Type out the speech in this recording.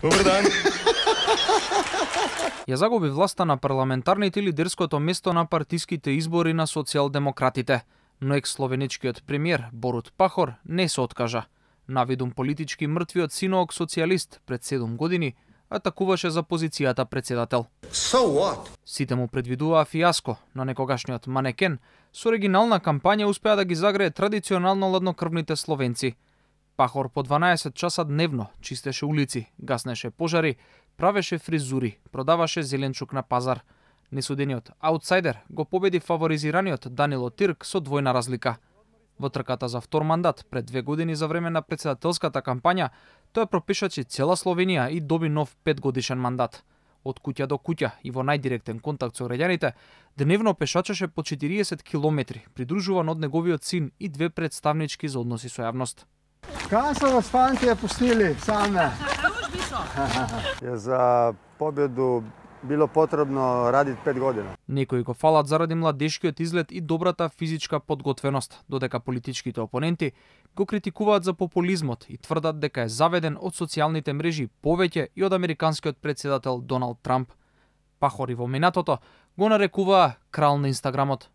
Добар дан. Ја загуби власта на парламентарните и лидерското место на партиските избори на социјалдемократите, но екс-словеничкиот премиер Борут Пахор не се откажа. Навидум политички мртвиот синоок социјалист пред 7 години атакуваше за позицијата председател. So what? Сите му предвидуваа фијаско, но некогашниот манекен со оригинална кампања успеа да ги загрее традиционално ладнокрвните словенци. Пахор по 12 часа дневно чистеше улици, гаснеше пожари, правеше фризури, продаваше зеленчук на пазар. Несудениот аутсайдер го победи фаворизираниот Данило Тирк со двојна разлика. Во трката за втор мандат пред 2 години за време на председателската кампања, тој пропишачи цела Словенија и доби нов 5-годишен мандат. Од куќа до куќа и во најдиректен контакт со граѓаните, дневно пешачеше по 40 километри, придружуван од неговиот син и 2 представнички за односи со јавност. Kaj so vas fantje pustili same? Je za pobjedu bilo potrebno raditi 5 godina. Некои го фалат заради младешкиот изглед и добрата физичка подготвеност, додека политичките опоненти го критикуваат за популизмот и тврдат дека е заведен од социјалните мрежи повеќе и од американскиот председател Доналд Трамп. Пахори во минатото го нарекуваа крал на Инстаграмот.